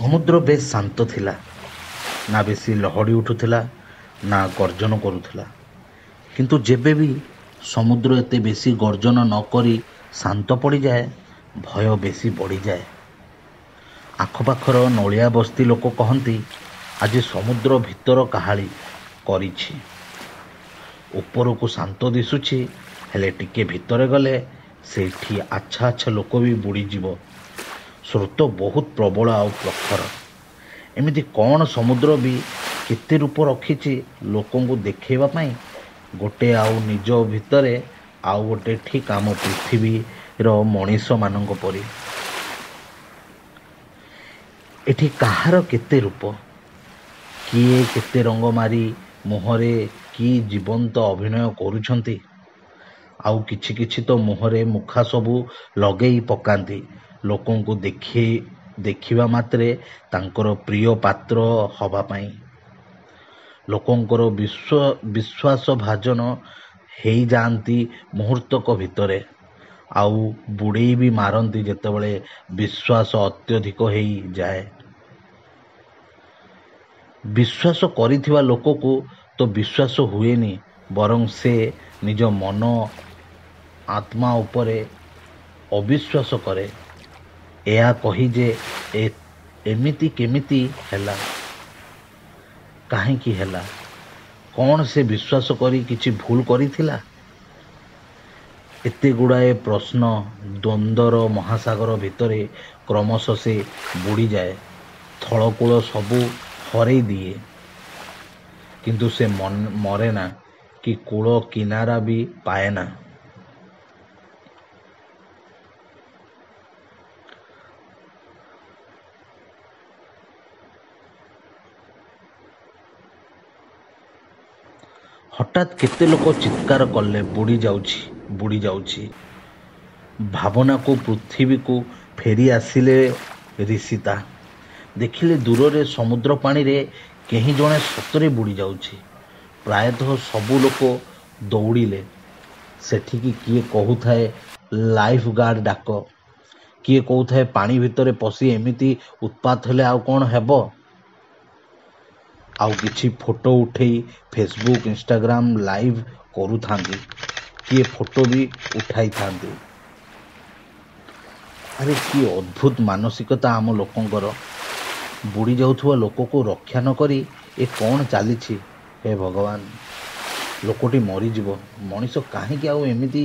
ସମୁଦ୍ର ବେଶ୍ ଶାନ୍ତ ଥିଲା। ନା ବେଶୀ ଲହଡ଼ି ଉଠୁଥିଲା, ନା ଗର୍ଜନ କରୁଥିଲା। କିନ୍ତୁ ଯେବେ ବି ସମୁଦ୍ର ଏତେ ବେଶୀ ଗର୍ଜନ ନ କରି ଶାନ୍ତ ପଡ଼ିଯାଏ, ଭୟ ବେଶୀ ବଢ଼ିଯାଏ। ଆଖପାଖର ନୋଳିଆ ବସ୍ତି ଲୋକ କହନ୍ତି, ଆଜି ସମୁଦ୍ର ଭିତର କାହାଳି କରିଛି। ଉପରକୁ ଶାନ୍ତ ଦିଶୁଛି, ହେଲେ ଟିକେ ଭିତରେ ଗଲେ ସେଇଠି ଆଚ୍ଛା ଆଚ୍ଛା ଲୋକ ବି ବୁଡ଼ିଯିବ। ସ୍ରୋତ ବହୁତ ପ୍ରବଳ ଆଉ ପ୍ରଖର। ଏମିତି କ'ଣ ସମୁଦ୍ର ବି କେତେ ରୂପ ରଖିଛି ଲୋକଙ୍କୁ ଦେଖେଇବା ପାଇଁ, ଗୋଟେ ଆଉ ନିଜ ଭିତରେ ଆଉ ଗୋଟେ, ଠିକ୍ ଆମ ପୃଥିବୀର ମଣିଷମାନଙ୍କ ପରି। ଏଠି କାହାର କେତେ ରୂପ, କିଏ କେତେ ରଙ୍ଗ ମାରି ମୁହଁରେ କି ଜୀବନ୍ତ ଅଭିନୟ କରୁଛନ୍ତି। ଆଉ କିଛି କିଛି ତ ମୁହଁରେ ମୁଖା ସବୁ ଲଗେଇ ପକାନ୍ତି ଲୋକଙ୍କୁ ଦେଖିବା ମାତ୍ରେ ତାଙ୍କର ପ୍ରିୟ ପାତ୍ର ହବା ପାଇଁ। ଲୋକଙ୍କର ବିଶ୍ୱାସଭାଜନ ହେଇଯାଆନ୍ତି ମୁହୂର୍ତ୍ତକ ଭିତରେ, ଆଉ ବୁଡ଼େଇ ବି ମାରନ୍ତି ଯେତେବେଳେ ବିଶ୍ୱାସ ଅତ୍ୟଧିକ ହେଇଯାଏ। ବିଶ୍ୱାସ କରିଥିବା ଲୋକକୁ ତ ବିଶ୍ୱାସ ହୁଏନି, ବରଂ ସେ ନିଜ ମନ ଆତ୍ମା ଉପରେ ଅବିଶ୍ୱାସ କରେ, ଏହା କହି ଯେ ଏମିତି କେମିତି ହେଲା, କାହିଁକି ହେଲା, କ'ଣ ସେ ବିଶ୍ୱାସ କରି କିଛି ଭୁଲ କରିଥିଲା? ଏତେ ଗୁଡ଼ାଏ ପ୍ରଶ୍ନ ଦ୍ୱନ୍ଦ୍ୱର ମହାସାଗର ଭିତରେ କ୍ରମଶଃ ସେ ବୁଡ଼ିଯାଏ, ଥଳକୂଳ ସବୁ ହରେଇ ଦିଏ। କିନ୍ତୁ ସେ ମରେନା କି କୂଳ କିନାରା ବି ପାଏନା। ହଠାତ୍ କେତେ ଲୋକ ଚିତ୍କାର କଲେ, ବୁଡ଼ି ଯାଉଛି, ବୁଡ଼ି ଯାଉଛି। ଭାବନାକୁ ପୃଥିବୀକୁ ଫେରି ଆସିଲେ ରିଷିତା। ଦେଖିଲେ ଦୂରରେ ସମୁଦ୍ର ପାଣିରେ କେହି ଜଣେ ସତରେ ବୁଡ଼ି ଯାଉଛି। ପ୍ରାୟତଃ ସବୁ ଲୋକ ଦୌଡ଼ିଲେ ସେଠିକି। କିଏ କହୁଥାଏ ଲାଇଫ୍ ଗାର୍ଡ଼ ଡାକ, କିଏ କହୁଥାଏ ପାଣି ଭିତରେ ପଶି ଏମିତି ଉତ୍ପାତ ହେଲେ ଆଉ କ'ଣ ହେବ। ଆଉ କିଛି ଫଟୋ ଉଠେଇ ଫେସବୁକ୍, ଇନଷ୍ଟାଗ୍ରାମ ଲାଇଭ୍ କରୁଥାନ୍ତି, କିଏ ଫଟୋ ବି ଉଠାଇଥାନ୍ତି। ଆରେ କି ଅଦ୍ଭୁତ ମାନସିକତା ଆମ ଲୋକଙ୍କର! ବୁଡ଼ି ଯାଉଥିବା ଲୋକକୁ ରକ୍ଷା ନ କରି ଏ କ'ଣ ଚାଲିଛି? ହେ ଭଗବାନ, ଲୋକଟି ମରିଯିବ। ମଣିଷ କାହିଁକି ଆଉ ଏମିତି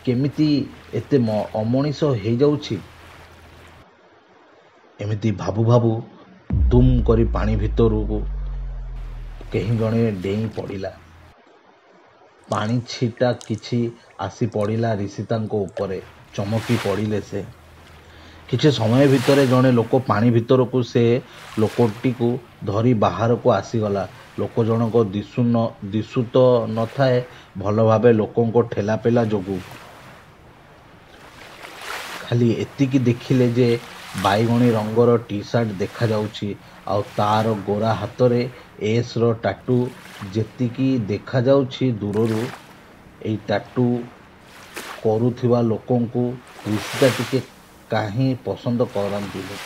କେମିତି ଏତେ ଅମଣିଷ ହେଇଯାଉଛି? ଏମିତି ଭାବୁ ଭାବୁ ଦୁମ୍ କରି ପାଣି ଭିତରକୁ କେହି ଜଣେ ଡେଇଁ ପଡ଼ିଲା। ପାଣି ଛିଟା କିଛି ଆସି ପଡ଼ିଲା ରିଷିତାଙ୍କ ଉପରେ। ଚମକି ପଡ଼ିଲେ ସେ। କିଛି ସମୟ ଭିତରେ ଜଣେ ଲୋକ ପାଣି ଭିତରକୁ ସେ ଲୋକଟିକୁ ଧରି ବାହାରକୁ ଆସିଗଲା। ଲୋକ ଜଣକ ଦିଶୁ ତ ନଥାଏ ଭଲ ଭାବେ ଲୋକଙ୍କ ଠେଲାପେଲା ଯୋଗୁଁ। ଖାଲି ଏତିକି ଦେଖିଲେ ଯେ ବାଇଗଣୀ ରଙ୍ଗର ଟି-ସାର୍ଟ ଦେଖାଯାଉଛି ଆଉ ତା'ର ଗୋରା ହାତରେ ଏସ୍‌ର ଟାଟୁ ଯେତିକି ଦେଖାଯାଉଛି ଦୂରରୁ। ଏଇ ଟାଟୁ କରୁଥିବା ଲୋକଙ୍କୁ ରିଷିତା ଟିକେ କାହିଁ ପସନ୍ଦ କରନ୍ତିନି।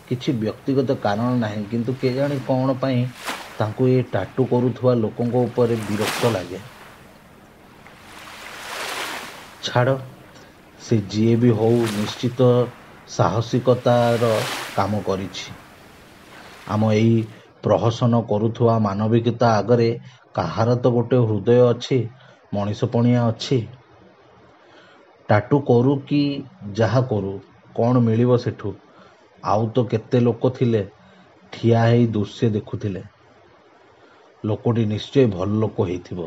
କିଛି ବ୍ୟକ୍ତିଗତ କାରଣ ନାହିଁ, କିନ୍ତୁ କେଜାଣି କ'ଣ ପାଇଁ ତାଙ୍କୁ ଏ ଟାଟୁ କରୁଥିବା ଲୋକଙ୍କ ଉପରେ ବିରକ୍ତ ଲାଗେ। ଛାଡ଼, ସେ ଯିଏ ବି ହଉ ନିଶ୍ଚିତ ସାହସିକତାର କାମ କରିଛି। ଆମ ଏଇ ପ୍ରହସନ କରୁଥିବା ମାନବିକତା ଆଗରେ କାହାର ତ ଗୋଟେ ହୃଦୟ ଅଛି, ମଣିଷପଣିଆ ଅଛି। ଟାଟୁ କରୁ କି ଯାହା କରୁ, କ'ଣ ମିଳିବ ସେଠୁ? ଆଉ ତ କେତେ ଲୋକ ଥିଲେ, ଠିଆ ହେଇ ଦୃଶ୍ୟ ଦେଖୁଥିଲେ। ଲୋକଟି ନିଶ୍ଚୟ ଭଲ ଲୋକ ହେଇଥିବ।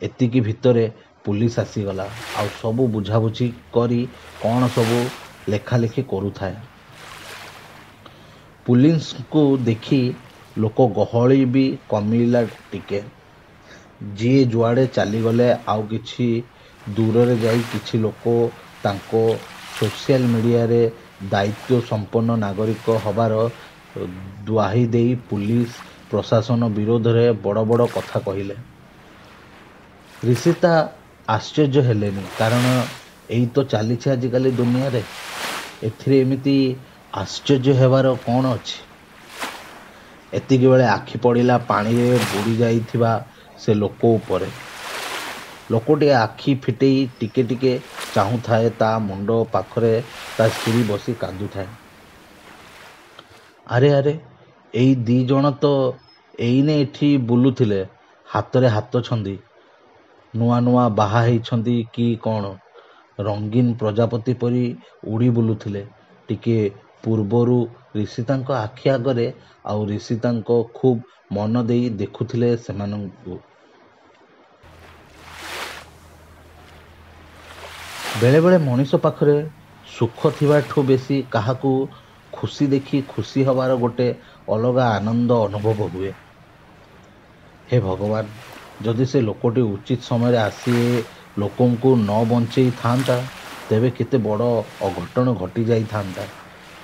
ଏତିକି ଭିତରେ ପୁଲିସ ଆସିଗଲା ଆଉ ସବୁ ବୁଝାବୁଝି କରି କ'ଣ ସବୁ ଲେଖାଲେଖି କରୁଥାଏ। ପୁଲିସଙ୍କୁ ଦେଖି ଲୋକ ଗହଳି ବି କମିଲା ଟିକେ। ଯିଏ ଯୁଆଡ଼େ ଚାଲିଗଲେ। ଆଉ କିଛି ଦୂରରେ ଯାଇ କିଛି ଲୋକ ତାଙ୍କ ସୋସିଆଲ ମିଡ଼ିଆରେ ଦାୟିତ୍ୱ ସମ୍ପନ୍ନ ନାଗରିକ ହବାର ଦ୍ୱାହି ଦେଇ ପୁଲିସ ପ୍ରଶାସନ ବିରୋଧରେ ବଡ଼ ବଡ଼ କଥା କହିଲେ। ରିଷିତା ଆଶ୍ଚର୍ଯ୍ୟ ହେଲେନି, କାରଣ ଏଇ ତ ଚାଲିଛି ଆଜିକାଲି ଦୁନିଆରେ। ଏଥିରେ ଏମିତି ଆଶ୍ଚର୍ଯ୍ୟ ହେବାର କ'ଣ ଅଛି? ଏତିକିବେଳେ ଆଖି ପଡ଼ିଲା ପାଣିରେ ବୁଡ଼ି ଯାଇଥିବା ସେ ଲୋକ ଉପରେ। ଲୋକଟି ଆଖି ଫିଟେଇ ଟିକେ ଟିକେ ଚାହୁଁଥାଏ। ତା ମୁଣ୍ଡ ପାଖରେ ତା ସ୍ତ୍ରୀ ବସି କାନ୍ଦୁଥାଏ। ଆରେ ଆରେ, ଏଇ ଦି ଜଣ ତ ଏଇନେ ଏଠି ବୁଲୁଥିଲେ, ହାତରେ ହାତ ଛନ୍ଦି। ନୂଆ ନୂଆ ବାହା ହେଇଛନ୍ତି କି କ'ଣ, ରଙ୍ଗୀନ ପ୍ରଜାପତି ପରି ଉଡ଼ି ବୁଲୁଥିଲେ ଟିକେ ପୂର୍ବରୁ ରିଷିତାଙ୍କ ଆଖି ଆଗରେ। ଆଉ ରିଷିତାଙ୍କ ଖୁବ୍ ମନ ଦେଇ ଦେଖୁଥିଲେ ସେମାନଙ୍କୁ। ବେଳେବେଳେ ମଣିଷ ପାଖରେ ସୁଖ ଥିବାଠୁ ବେଶୀ କାହାକୁ ଖୁସି ଦେଖି ଖୁସି ହବାର ଗୋଟେ ଅଲଗା ଆନନ୍ଦ ଅନୁଭବ ହୁଏ। ହେ ଭଗବାନ, ଯଦି ସେ ଲୋକଟି ଉଚିତ ସମୟରେ ଆସି ଏ ଲୋକଙ୍କୁ ନ ବଞ୍ଚେଇ ଥାଆନ୍ତା, ତେବେ କେତେ ବଡ଼ ଅଘଟଣ ଘଟି ଯାଇଥାନ୍ତା।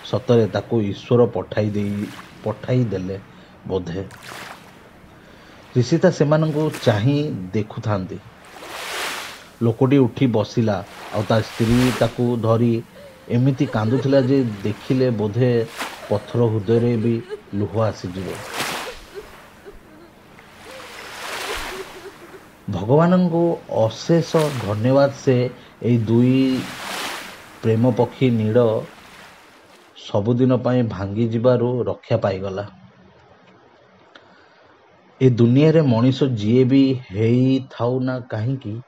ସତରେ ତାକୁ ଈଶ୍ୱର ପଠାଇ ଦେଲେ ବୋଧେ। ରିଷିତା ସେମାନଙ୍କୁ ଚାହିଁ ଦେଖୁଥାନ୍ତି। ଲୋକଟି ଉଠି ବସିଲା, ଆଉ ତା ସ୍ତ୍ରୀ ତାକୁ ଧରି ଏମିତି କାନ୍ଦୁଥିଲା ଯେ ଦେଖିଲେ ବୋଧେ ପଥର ହୃଦୟରେ ବି ଲୁହ ଆସିଯିବ। ଭଗବାନଙ୍କୁ ଅଶେଷ ଧନ୍ୟବାଦ, ସେ ଏଇ ଦୁଇ ପ୍ରେମ ପକ୍ଷୀ ନୀଡ଼ ସବୁଦିନ ପାଇଁ ଭାଙ୍ଗି ଯିବାରୁ ରକ୍ଷା ପାଇଗଲା। ଏ ଦୁନିଆରେ ମଣିଷ ଯିଏ ବି ହେଇଥାଉ ନା କାହିଁକି,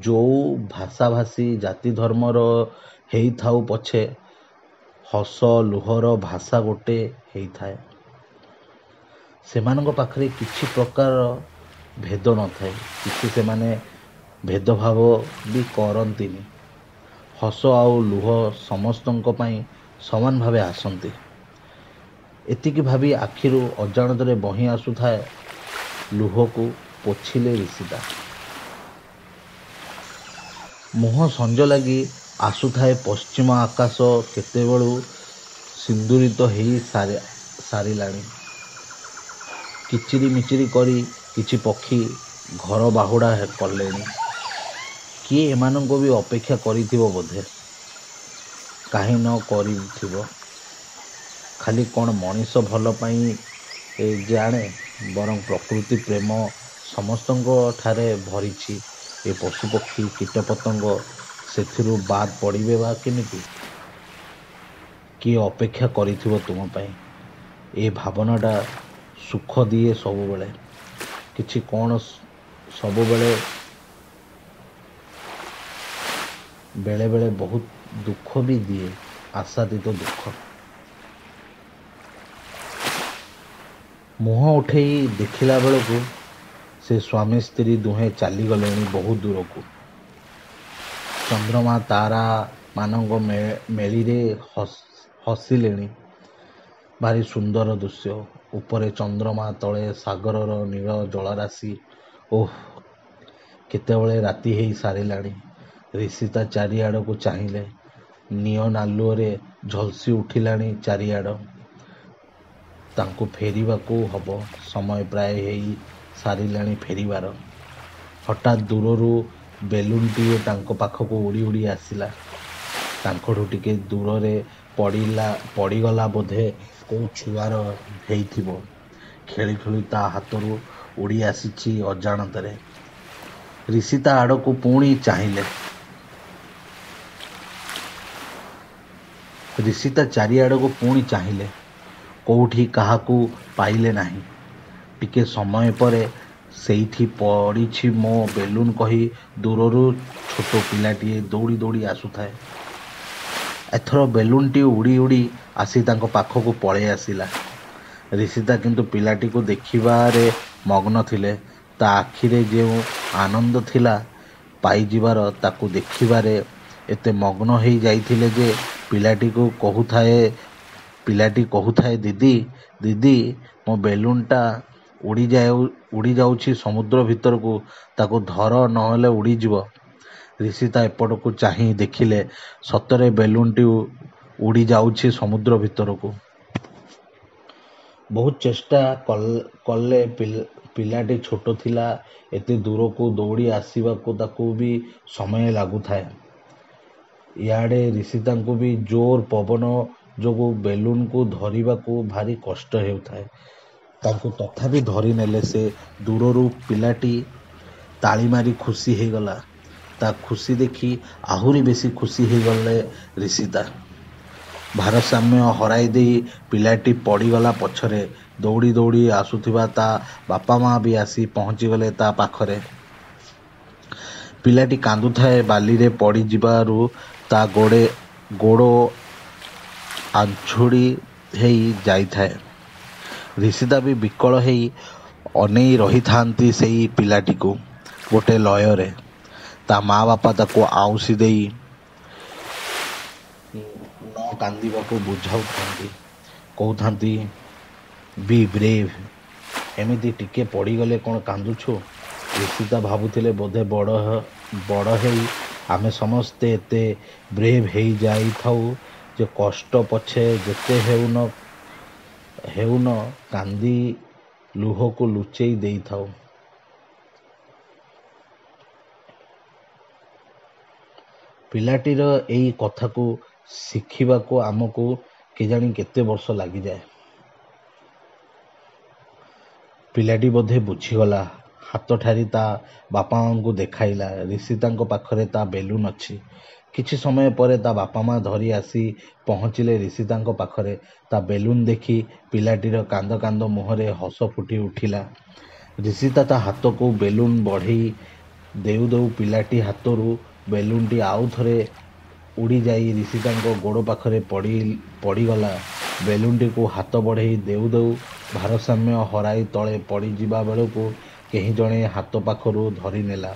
ଯୋଉ ଭାଷାଭାଷୀ, ଜାତି ଧର୍ମର ହେଇଥାଉ ପଛେ, ହସ ଲୁହର ଭାଷା ଗୋଟେ ହେଇଥାଏ। ସେମାନଙ୍କ ପାଖରେ କିଛି ପ୍ରକାର ଭେଦ ନଥାଏ। କିଛି ସେମାନେ ଭେଦଭାବ ବି କରନ୍ତିନି। ହସ ଆଉ ଲୁହ ସମସ୍ତଙ୍କ ପାଇଁ ସମାନ ଭାବେ ଆସନ୍ତି। ଏତିକି ଭାବି ଆଖିରୁ ଅଜାଣତରେ ବହି ଆସୁଥାଏ ଲୁହକୁ ପୋଛିଲେ ରିଷିତା। ମୁହଁ ସଞ୍ଜ ଲାଗି ଆସୁଥାଏ। ପଶ୍ଚିମ ଆକାଶ କେତେବେଳୁ ସିନ୍ଦୁରିତ ହେଇ ସାରିଲାଣି। କିଚିରି ମିଚିରି କରି କିଛି ପକ୍ଷୀ ଘରବାହୁଡ଼ା କଲେଣି। କିଏ ଏମାନଙ୍କୁ ବି ଅପେକ୍ଷା କରିଥିବ ବୋଧେ। କାହିଁ ନ କରିଥିବ? ଖାଲି କ'ଣ ମଣିଷ ଭଲ ପାଇ ଜାଣେ, ବରଂ ପ୍ରକୃତି ପ୍ରେମ ସମସ୍ତଙ୍କ ଠାରେ ଭରିଛି। ଏ ପଶୁପକ୍ଷୀ, କୀଟପତଙ୍ଗ ସେଥିରୁ ବାଦ୍ ପଡ଼ିବେ ବା କେମିତି? କିଏ ଅପେକ୍ଷା କରିଥିବ ତୁମ ପାଇଁ, ଏ ଭାବନାଟା ସୁଖ ଦିଏ ସବୁବେଳେ। କିଛି କ'ଣ ସବୁବେଳେ, ବେଳେବେଳେ ବହୁତ ଦୁଃଖ ବି ଦିଏ, ଆଶାତୀତ ଦୁଃଖ। ମୁହଁ ଉଠେଇ ଦେଖିଲା ବେଳକୁ ସେ ସ୍ୱାମୀ ସ୍ତ୍ରୀ ଦୁହେଁ ଚାଲିଗଲେଣି ବହୁ ଦୂରକୁ। ଚନ୍ଦ୍ରମା ତାରାମାନଙ୍କ ମେଳିରେ ହସିଲେଣି। ଭାରି ସୁନ୍ଦର ଦୃଶ୍ୟ। ଉପରେ ଚନ୍ଦ୍ରମା, ତଳେ ସାଗରର ନୀଳ ଜଳରାଶି। ଓଃ, କେତେବେଳେ ରାତି ହେଇ ସାରିଲାଣି। ରିଷିତା ଚାରିଆଡ଼କୁ ଚାହିଁଲେ। ନିଅନ୍ ଆଲୁଅରେ ଝଲସି ଉଠିଲାଣି ଚାରିଆଡ଼। ତାଙ୍କୁ ଫେରିବାକୁ ହବ। ସମୟ ପ୍ରାୟ ହେଇ ସାରିଲାଣି ଫେରିବାର। ହଠାତ୍ ଦୂରରୁ ବେଲୁନଟିଏ ତାଙ୍କ ପାଖକୁ ଉଡ଼ି ଉଡ଼ି ଆସିଲା। ତାଙ୍କଠୁ ଟିକେ ଦୂରରେ ପଡ଼ିଗଲା। ବୋଧେ କୋଉ ଛୁଆର ହେଇଥିବ। ଖେଳୁ ଖେଳୁ ତା ହାତରୁ ଉଡ଼ି ଆସିଛି ଅଜାଣତରେ। ରିଷିତା ଆଡ଼କୁ ପୁଣି ଚାହିଁଲେ। ରିଷିତା ଚାରିଆଡ଼କୁ ପୁଣି ଚାହିଁଲେ। କୋଉଠି କାହାକୁ ପାଇଲେ ନାହିଁ। ଟିକେ ସମୟ ପରେ ସେଇଠି ପଡ଼ିଛି ମୋ ବେଲୁନ କହି ଦୂରରୁ ଛୋଟ ପିଲାଟିଏ ଦୌଡ଼ି ଦୌଡ଼ି ଆସୁଥାଏ। ଏଥର ବେଲୁନଟି ଉଡ଼ି ଉଡ଼ି ଆସି ତାଙ୍କ ପାଖକୁ ପଳେଇ ଆସିଲା। ରିଷିତା କିନ୍ତୁ ପିଲାଟିକୁ ଦେଖିବାରେ ମଗ୍ନ ଥିଲେ। ତା ଆଖିରେ ଯେଉଁ ଆନନ୍ଦ ଥିଲା ପାଇଯିବାର, ତାକୁ ଦେଖିବାରେ ଏତେ ମଗ୍ନ ହେଇ ଯାଇଥିଲେ ଯେ ପିଲାଟି କହୁଥାଏ, ଦିଦି, ଦିଦି, ମୋ ବେଲୁନଟା ଉଡ଼ିଯାଉଛି ସମୁଦ୍ର ଭିତରକୁ, ତାକୁ ଧର, ନହେଲେ ଉଡ଼ିଯିବ। ରିଷିତା ଏପଟକୁ ଚାହିଁ ଦେଖିଲେ, ସତରେ ବେଲୁନଟି ଉଡ଼ିଯାଉଛି ସମୁଦ୍ର ଭିତରକୁ। ବହୁତ ଚେଷ୍ଟା କଲେ। ପିଲାଟି ଛୋଟ ଥିଲା, ଏତେ ଦୂରକୁ ଦୌଡ଼ି ଆସିବାକୁ ତାକୁ ବି ସମୟ ଲାଗୁଥାଏ। ଇଆଡ଼େ ରିଷିତାଙ୍କୁ ବି ଜୋର ପବନ ଯୋଗୁଁ ବେଲୁନକୁ ଧରିବାକୁ ଭାରି କଷ୍ଟ ହେଉଥାଏ। ତାଙ୍କୁ ତଥାପି ଧରିନେଲେ ସେ। ଦୂରରୁ ପିଲାଟି ତାଳି ମାରି ଖୁସି ହେଇଗଲା। ତା ଖୁସି ଦେଖି ଆହୁରି ବେଶୀ ଖୁସି ହେଇଗଲେ ରିଷିତା। ଭାରସାମ୍ୟ ହରାଇ ଦେଇ ପିଲାଟି ପଡ଼ିଗଲା ପଛରେ। ଦୌଡ଼ି ଦୌଡ଼ି ଆସୁଥିବା ତା ବାପା ମା ବି ଆସି ପହଞ୍ଚିଗଲେ ତା ପାଖରେ। ପିଲାଟି କାନ୍ଦୁଥାଏ। ବାଲିରେ ପଡ଼ିଯିବାରୁ ତା ଗୋଡ଼ ଆଞ୍ଛୁଡ଼ି ହେଇ ଯାଇଥାଏ। ରିଷିତା ବି ବିକଳ ହେଇ ଅନେଇ ରହିଥାନ୍ତି ସେଇ ପିଲାଟିକୁ ଗୋଟେ ଲୟରେ। ତା ମା ବାପା ତାକୁ ଆଉଁସି ଦେଇ ନ କାନ୍ଦିବାକୁ ବୁଝାଉଥାନ୍ତି। କହୁଥାନ୍ତି, ବି ବ୍ରେଭ୍। ଏମିତି ଟିକେ ପଡ଼ିଗଲେ କ'ଣ କାନ୍ଦୁଛୁ? ରିଷିତା ଭାବୁଥିଲେ, ବୋଧେ ବଡ଼ ହେଇ ଆମେ ସମସ୍ତେ ଏତେ ବ୍ରେଭ୍ ହେଇଯାଇଥାଉ ଯେ କଷ୍ଟ ପଛେ ଯେତେ ହେଉନ କାନ୍ଦି ଲୁହକୁ ଲୁଚେଇ ଦେଇଥାଉ। ପିଲାଟିର ଏଇ କଥାକୁ ଶିଖିବାକୁ ଆମକୁ କେଜାଣି କେତେ ବର୍ଷ ଲାଗିଯାଏ। ପିଲାଟି ବୋଧେ ବୁଝିଗଲା। ହାତ ଠାରି ତା ବାପା ମାଙ୍କୁ ଦେଖାଇଲା, ରିଷିତାଙ୍କ ପାଖରେ ତା ବେଲୁନ ଅଛି। କିଛି ସମୟ ପରେ ତା ବାପା ମା ଧରି ଆସି ପହଞ୍ଚିଲେ ରିଷିତାଙ୍କ ପାଖରେ। ତା ବେଲୁନ ଦେଖି ପିଲାଟିର କାନ୍ଦ କାନ୍ଦ ମୁହଁରେ ହସ ଫୁଟି ଉଠିଲା। ରିଷିତା ତା ହାତକୁ ବେଲୁନ ବଢ଼େଇ ଦେଉ ଦେଉ ପିଲାଟି ହାତରୁ ବେଲୁନଟି ଆଉ ଥରେ ଉଡ଼ିଯାଇ ରିଷିତାଙ୍କ ଗୋଡ଼ ପାଖରେ ପଡ଼ିଗଲା। ବେଲୁନଟିକୁ ହାତ ବଢ଼େଇ ଦେଉ ଦେଉ ଭାରସାମ୍ୟ ହରାଇ ତଳେ ପଡ଼ିଯିବା ବେଳକୁ କେହି ଜଣେ ହାତ ପାଖରୁ ଧରିନେଲା।